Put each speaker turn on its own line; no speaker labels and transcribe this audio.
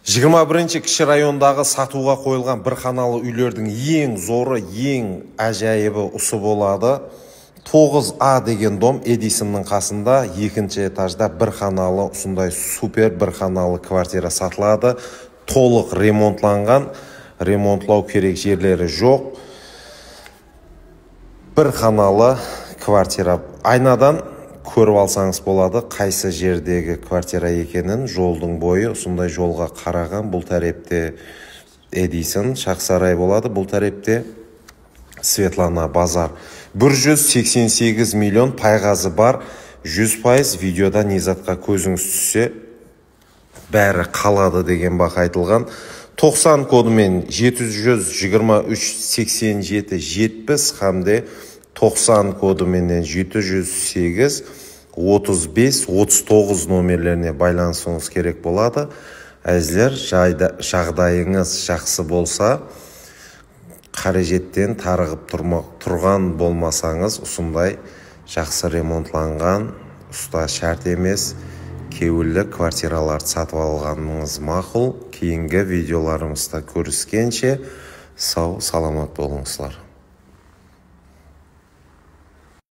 21 кіші райондағы сатуға қойылған бір қаналы үйлердің ең зоры, ең әжайыбы ұсы болады. 9А деген дом Эдисонның қасында, екінші этажда бір қаналы, ұсындай супер бір қаналы квартира сатылады. Толық ремонтланған, ремонтлау керек жерлері жоқ. Бір қаналы квартира. Айнадан көріп алсаңыз болады, қайсы жердегі квартира екенін. Жолдың бойы ұсындай жолға қараған. Бұл тәрепте Эдисон, Шақсарай болады. Бұл тәрепте Светлана базар. 188 миллион пайғазы бар. 100% видеода Низатқа көзіңіз түссе бәрі қалады деген бақ айтылған. 90 кодымен 723-87-70 хамде 90 кодыменен 708-35-39 номерлеріне байланысыңыз керек болады. Әзілер, жағдайыңыз жақсы болса, қаражеттен тарығып тұрған болмасаңыз, ұсындай жақсы ремонтланған, ұста шарт емес, кеуілі квартираларды сатып алғаныңыз мақұл. Кейінгі видеоларымызда көріскенше сау, саламат болыңыздар.